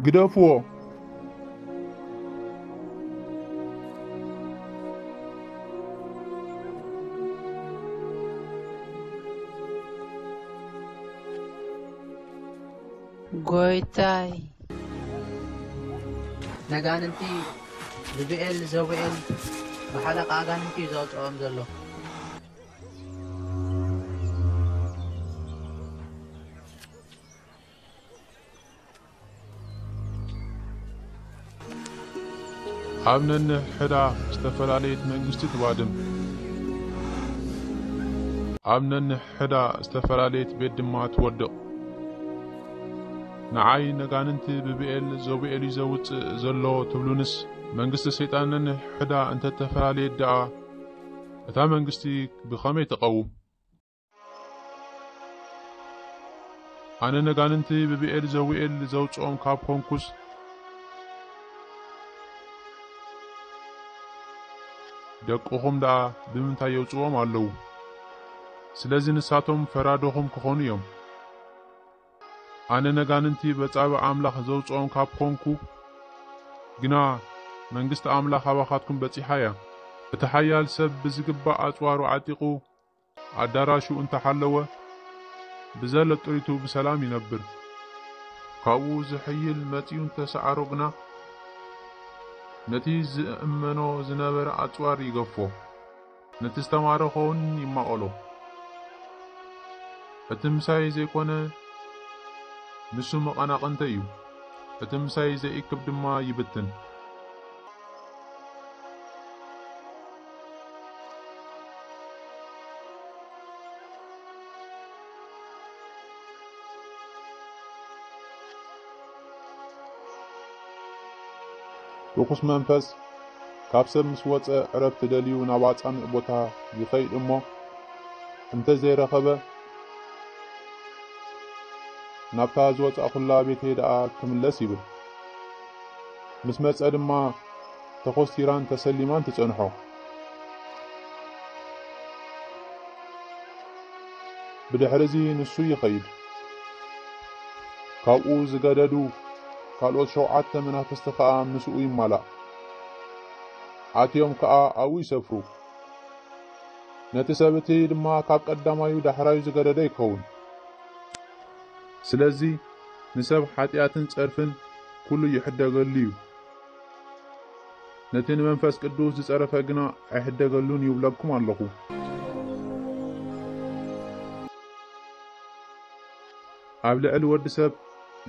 ግደፍዎ። ጎይታይ፣ ነጋንንቲ ብብኤል ዘቡኤል ብሓለቃ ኣጋንንቲ እዩ ዘውፅኦም ዘሎ። ኣብ ነንሕዳ ዝተፈላለየት መንግስቲ ትባድም። ኣብ ነንሕዳ ዝተፈላለየት ቤት ድማ ትወድቕ። ንዓይ ነጋንንቲ ብብኤል ዘቡኤል እዩ ዘውፅእ ዘሎ ትብሉንስ፣ መንግስቲ ሰይጣን ነንሕዳ እንተተፈላለየት ደኣ፣ እታ መንግስቲ ብኸመይ ትቐውም? ኣነ ነጋንንቲ ብብኤል ዘቡኤል ዘውፅኦም ካብ ኮንኩስ፣ ደቅኹም ደኣ ብምንታይ የውፅዎም ኣለዉ? ስለዚ ንሳቶም ፈራዶኹም ክኾኑ እዮም። ኣነ ነጋንንቲ በጻብዕ ኣምላኽ ዘውፅኦም ካብ ኮንኩ ግና፣ መንግስቲ ኣምላኽ ኣባኻትኩም በጺሓ እያ። እቲ ሓያል ሰብ ብዝግባእ ኣጽዋሩ ዓጢቑ ኣዳራሹ እንተሓለወ፣ ብዘለጦይቱ ብሰላም ይነብር። ካብኡ ዝሕይል መጺኡ እንተሰዓሮ ግና፣ ነቲ ዝእመኖ ዝነበረ ኣጽዋር ይገፎ፣ ነቲ ዝተማረኸ እውን ይማቐሎ። እቲ ምሳይ ዘይኮነ፣ ንሱ መቐናቕንተይ እዩ፣ እቲ ምሳይ ዘይእክብ ድማ ይብትን። ርኹስ መንፈስ ካብ ሰብ ምስ ወጸ ዕረፍቲ ደልዩ ናብ ኣጻምእ ቦታ ይኸይድ እሞ እንተ ዘይረኸበ ናብታ ዝወጻእኩላ ቤተይ ደኣ ክምለስ ይብል። ምስ መጸ ድማ ተኾስቲራን ተሰሊማን ትጸንሖ። ብድሕርዚ ንሱ ይኸይድ። ካብኡ ዝገደዱ ካልኦት ሸውዓተ መናፍስቲ ከኣ ምስኡ ይማላእ። ኣትዮም ከኣ ኣብኡ ይሰፍሩ። ነቲ ሰብ እቲ ድማ ካብ ቀዳማዩ ዳሕራዩ ዝገደደ ይከውን። ስለዚ ንሰብ ሓጢኣትን ጸርፍን ኩሉ ይሕደገሉ እዩ። ነቲ ንመንፈስ ቅዱስ ዝጸረፈ ግና ኣይሕደገሉን ይብለኩም ኣለኹ። ኣብ ልዕሊ ወዲ ሰብ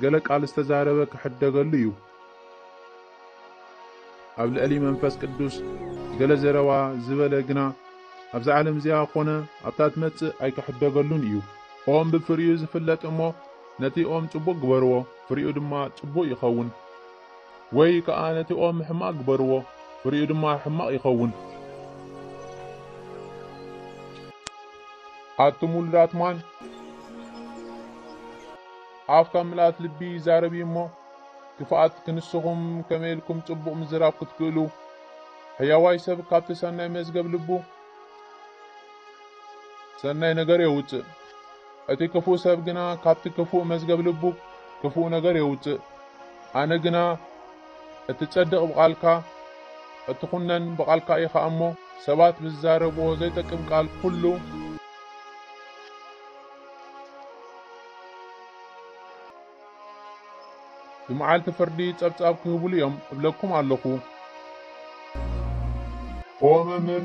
ገለ ቃል ዝተዛረበ ክሕደገሉ እዩ። ኣብ ልዕሊ መንፈስ ቅዱስ ገለ ዘረባ ዝበለ ግና ኣብዛ ዓለም እዚኣ ኾነ ኣብታ ትመጽእ ኣይክሕደገሉን እዩ። ኦም ብፍሪኡ ዝፍለጥ እሞ ነቲ ኦም ጽቡቕ ግበርዎ፣ ፍሪኡ ድማ ጽቡቕ ይኸውን። ወይ ከኣ ነቲ ኦም ሕማቕ ግበርዎ፣ ፍሪኡ ድማ ሕማቕ ይኸውን። ኣቱም ውሉዳት ማን፣ ኣፍ ካብ ምልኣት ልቢ ይዛረብ እዩ እሞ፣ ክፍኣት ክንስኹም ከመይ ኢልኩም ጽቡቕ ምዝራብ ክትክእሉ? ሕያዋይ ሰብ ካብቲ ሰናይ መዝገብ ልቡ ሰናይ ነገር የውጽእ። እቲ ክፉእ ሰብ ግና ካብቲ ክፉእ መዝገብ ልቡ ክፉእ ነገር የውጽእ። ኣነ ግና እትጸድቕ ብቓልካ፣ እትኹነን ብቓልካ ኢኻ እሞ፣ ሰባት ብዝዛረብዎ ዘይጠቅም ቃል ኩሉ ብመዓልቲ ፍርዲ ጸብጻብ ክህብሉ እዮም እብለኩም ኣለኹ። ኦ መምህር፣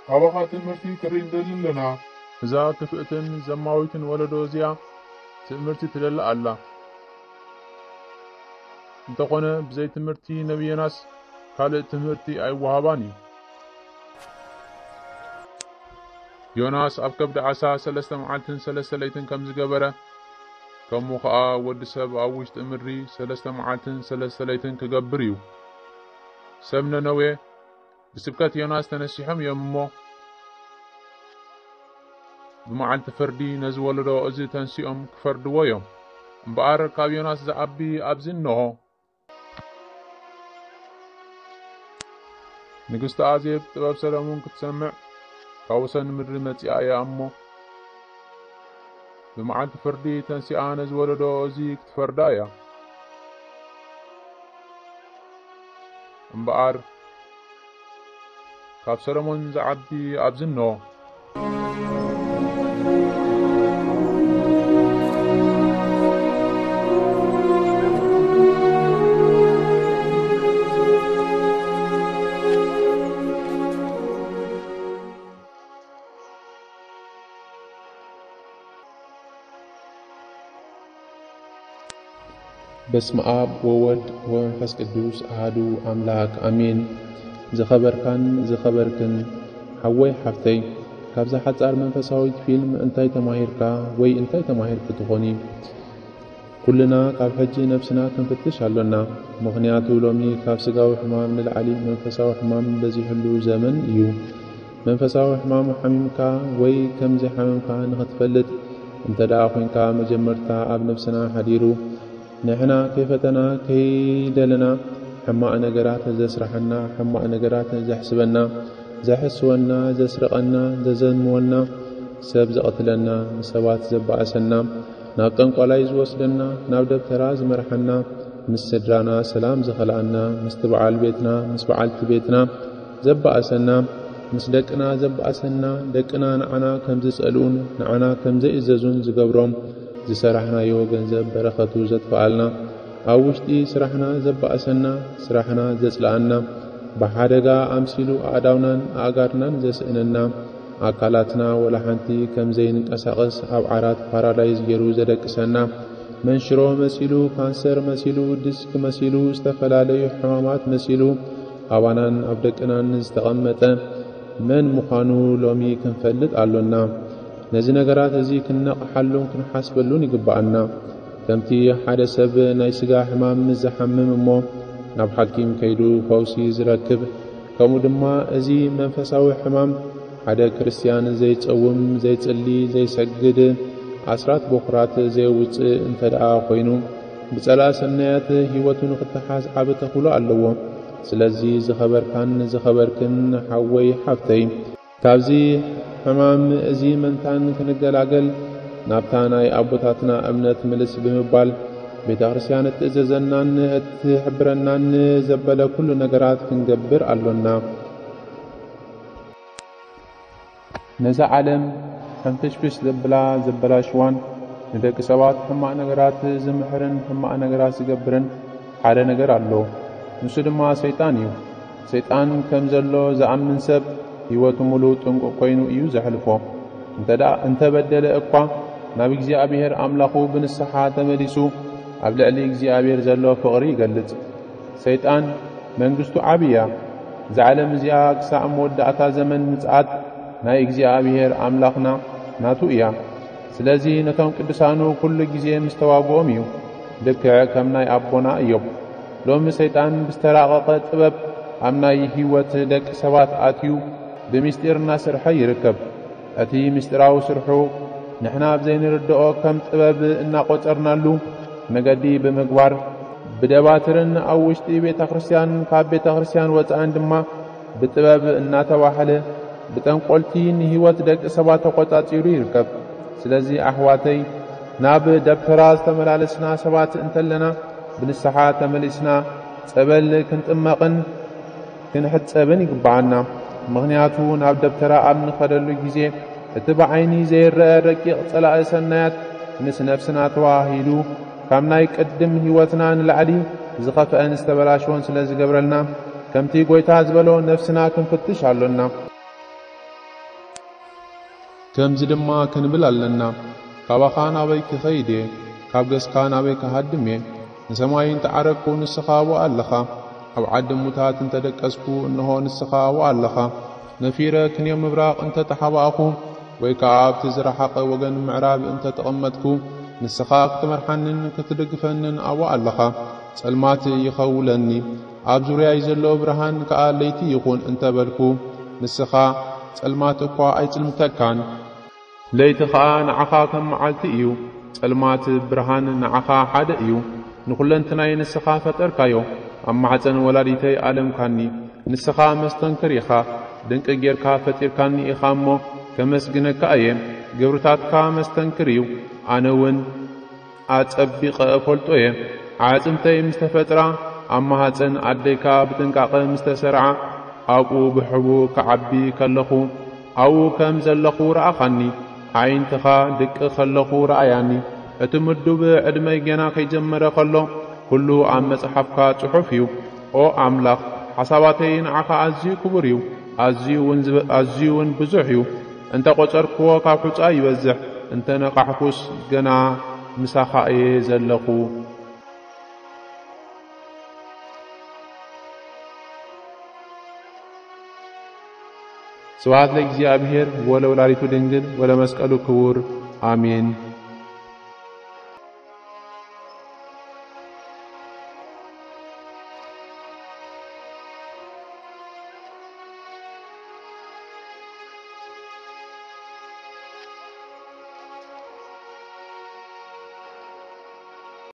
ካባኻ ትምህርቲ ክርኢ ንደሊ ኣለና። እዛ ክፍእትን ዘማዊትን ወለዶ እዚኣ ትእምርቲ ትደሊ ኣላ። እንተኾነ ብዘይ ትምህርቲ ነብይ ዮናስ ካልእ ትምህርቲ ኣይወሃባን እዩ። ዮናስ ኣብ ከብዲ ዓሳ ሰለስተ መዓልትን ሰለስተ ለይትን ከም ዝገበረ፣ ከምኡ ኸኣ ወዲ ሰብ ኣብ ውሽጢ ምድሪ ሰለስተ መዓልትን ሰለስተ ለይትን ክገብር እዩ። ሰብ ነነዌ ብስብከት ዮናስ ተነሲሖም እዮም እሞ፣ ብመዓልቲ ፍርዲ ነዚ ወለዶ እዚ ተንሲኦም ክፈርድዎ እዮም። እምበኣር ካብ ዮናስ ዝዓቢ ኣብዚ እንሆ። ንግስቲ ኣዜብ ጥበብ ሰለሙን ክትሰምዕ ካብ ወሰን ምድሪ መጺኣ እያ እሞ፣ ብመዓልቲ ፍርዲ ተንሲኣ ነዚ ወለዶ እዚ ክትፈርዳ እያ። እምበኣር፣ ካብ ሰሎሞን ዝዓቢ ኣብዚ እነሆ። በስመ አብ ወወልድ ወመንፈስ ቅዱስ አሐዱ አምላክ አሜን። ዝኸበርካን ዝኸበርክን ሓወይ ሓፍተይ፣ ካብዛ ሓጻር መንፈሳዊት ፊልም እንታይ ተማሂርካ ወይ እንታይ ተማሂርኪ ትኾኒ? ኩልና ካብ ሕጂ ነብስና ክንፍትሽ ኣሎና። ምኽንያቱ ሎሚ ካብ ስጋዊ ሕማም ንላዕሊ መንፈሳዊ ሕማም በዚሕሉ ዘመን እዩ። መንፈሳዊ ሕማም ሓሚምካ ወይ ከም ዘይሓመምካ ንኽትፈልጥ እንተ ደኣ ኾይንካ፣ መጀመርታ ኣብ ነብስና ሓዲሩ፣ ንሕና ከይፈተና ከይደለና ሕማቕ ነገራት ዘስርሓና፣ ሕማቕ ነገራት ዘሕስበና፣ ዘሕስወና፣ ዘስርቐና፣ ዘዘምወና፣ ሰብ ዘቐትለና፣ ንሰባት ዘባእሰና፣ ናብ ጠንቋላይ ዝወስደና፣ ናብ ደብተራ ዝመርሓና፣ ምስ ስድራና ሰላም ዝኸልኣና፣ ምስቲ በዓል ቤትና፣ ምስ በዓልቲ ቤትና ዘባእሰና፣ ምስ ደቅና ዘባእሰና፣ ደቅና ንዓና ከም ዝጸልኡን ንዓና ከም ዘይእዘዙን ዝገብሮም፣ ዝሰራሕናዮ ገንዘብ በረኸቱ ዘጥፍኣልና፣ ኣብ ውሽጢ ስራሕና ዘባእሰና፣ ስራሕና ዘጽልኣና፣ ብሓደጋ ኣምሲሉ ኣእዳውናን ኣእጋርናን ዘስእነና፣ ኣካላትና ወላ ሓንቲ ከም ዘይንቀሳቐስ ኣብ ዓራት ፓራላይዝ ገይሩ ዘደቅሰና፣ መንሽሮ መሲሉ፣ ካንሰር መሲሉ፣ ዲስክ መሲሉ፣ ዝተፈላለዩ ሕማማት መሲሉ ኣባናን ኣብ ደቅናን ዝተቐመጠ መን ምዃኑ ሎሚ ክንፈልጥ ኣሎና። ነዚ ነገራት እዚ ክንነቕሓሉን ክንሓስበሉን ይግብኣና። ከምቲ ሓደ ሰብ ናይ ስጋ ሕማም ምስ ዝሓምም እሞ ናብ ሓኪም ከይዱ ፈውሲ ዝረክብ፣ ከምኡ ድማ እዚ መንፈሳዊ ሕማም ሓደ ክርስትያን ዘይጸውም፣ ዘይጽሊ፣ ዘይሰግድ፣ ኣስራት በኩራት ዘየውጽእ እንተ ደኣ ኮይኑ፣ ብጸላእ ሰናያት ህይወቱ ንኽተሓዝ ዓቢ ተኽእሎ ኣለዎ። ስለዚ ዝኸበርካን ዝኸበርክን ሓወይ ሓፍተይ፣ ካብዚ ሕማም እዚ መንታን ክንገላገል ናብታ ናይ ኣቦታትና እምነት ምልስ ብምባል፣ ቤተ ክርስቲያን እትእዘዘናን እትሕብረናን ዘበለ ኩሉ ነገራት ክንገብር ኣሎና። ነዛ ዓለም ሕንፍሽፍሽ ዘብላ ዘበላሽዋን ንደቂ ሰባት ሕማቕ ነገራት ዝምሕርን ሕማቕ ነገራት ዝገብርን ሓደ ነገር ኣሎ። ንሱ ድማ ሰይጣን እዩ። ሰይጣን ከም ዘሎ ዝኣምን ሰብ ህይወቱ ምሉእ ጥንቁቕ ኮይኑ እዩ ዘሕልፎ። እንተ ደኣ እንተ በደለ እኳ፣ ናብ እግዚኣብሔር ኣምላኹ ብንስሓ ተመሊሱ ኣብ ልዕሊ እግዚኣብሔር ዘሎ ፍቕሪ ይገልጽ። ሰይጣን መንግስቱ ዓቢ እያ። እዛ ዓለም እዚኣ ክሳዕ መወዳእታ ዘመን ምጽኣት ናይ እግዚኣብሔር ኣምላኽና ናቱ እያ። ስለዚ ነቶም ቅዱሳኑ ኩሉ ግዜ ምስ ተዋግኦም እዩ፣ ልክዕ ከም ናይ ኣቦና እዮብ። ሎሚ ሰይጣን ብዝተራቐቐ ጥበብ ኣብ ናይ ህይወት ደቂ ሰባት ኣትዩ ብምስጢር እናሰርሐ ይርከብ። እቲ ምስጢራዊ ስርሑ ንሕና ኣብ ዘይንርድኦ ከም ጥበብ እናቖጸርናሉ መገዲ ብምግባር፣ ብደባትርን ኣብ ውሽጢ ቤተ ክርስቲያን፣ ካብ ቤተ ክርስቲያን ወጻእን ድማ ብጥበብ እናተባህለ ብጠንቆልቲ ንህይወት ደቂ ሰባት ተቖጻጺሩ ይርከብ። ስለዚ ኣሕዋተይ፣ ናብ ደብተራ ዝተመላለስና ሰባት እንተለና፣ ብንስሓ ተመሊስና ጸበል ክንጥመቕን ክንሕጸብን ይግብኣና። ምኽንያቱ ናብ ደብተራ ኣብ ንኸደሉ ግዜ እቲ ብዓይኒ ዘይረአ ረቂቕ ጸላኢ ሰናያት ምስ ነፍስና ተዋሂዱ ካብ ናይ ቅድም ህይወትና ንላዕሊ ዝኸፍአን ዝተበላሸወን ስለ ዝገብረልና፣ ከምቲ ጐይታ ዝበሎ ነፍስና ክንፍትሽ ኣሎና። ከምዚ ድማ ክንብል ኣለና፣ ካባኻ ናበይ ክኸይድ እየ? ካብ ገጽካ ናበይ ክሃድም እየ? ንሰማይ እንተ ዓረግኩ፣ ንስኻ ኣብኡ ኣለኻ። ኣብ ዓዲ እሙታት እንተ ደቀስኩ፣ እንሆ፣ ንስኻ ኣብኡ ኣለኻ። ነፊረ ክንዮ ምብራቕ እንተ ተሓባእኹ፣ ወይ ከኣ ኣብቲ ዝረሓቐ ወገን ምዕራብ እንተ ተቐመጥኩ፣ ንስኻ ክትመርሓንን ክትድግፈንን ኣብኡ ኣለኻ። ጸልማት ይኸውለኒ፣ ኣብ ዙርያይ ዘሎ ብርሃን ከኣ ለይቲ ይኹን እንተ በልኩ፣ ንስኻ ጸልማት እኳ ኣይጽልምተካን። ለይቲ ኸኣ ንዓኻ ከም መዓልቲ እዩ። ጸልማት ብርሃን ንዓኻ ሓደ እዩ። ንኹለንትናይ ንስኻ ፈጠርካዮ። ኣብ ማሕጸን ወላዲተይ ኣለምካኒ። ንስኻ መስተንክር ኢኻ። ድንቂ ጌርካ ፈጢርካኒ ኢኻ እሞ ከመስግነካ እየ። ግብርታትካ መስተንክር እዩ። ኣነ እውን ኣጸቢቐ እፈልጦ እየ። ኣዕጽምተይ ምስ ተፈጥራ ኣብ ማህፀን ኣደይካ ብጥንቃቐ ምስ ተሰርዓ፣ ኣብኡ ብሕቡ ክዓቢ ከለኹ፣ ኣብኡ ከም ዘለኹ ረኣኻኒ። ኣዒንትኻ ድቂ ከለኹ ረኣያኒ። እቲ ምዱብ ዕድመይ ገና ከይጀመረ ከሎ፣ ኩሉ ኣብ መጽሓፍካ ጽሑፍ እዩ። ኦ ኣምላኽ፣ ሓሳባተይ ንዓኻ ኣዝዩ ክቡር እዩ፣ ኣዝዩ እውን ዝብ-፣ ኣዝዩ እውን ብዙሕ እዩ። እንተ ቖጸርክዎ፣ ካብ ሑጻ ይበዝሕ፣ እንተ ነቓሕኩስ፣ ገና ምሳኻ እየ ዘለኹ። ስብሐት ለእግዚኣብሔር ወለወላዲቱ ድንግል ወለመስቀሉ ክቡር፣ ኣሜን።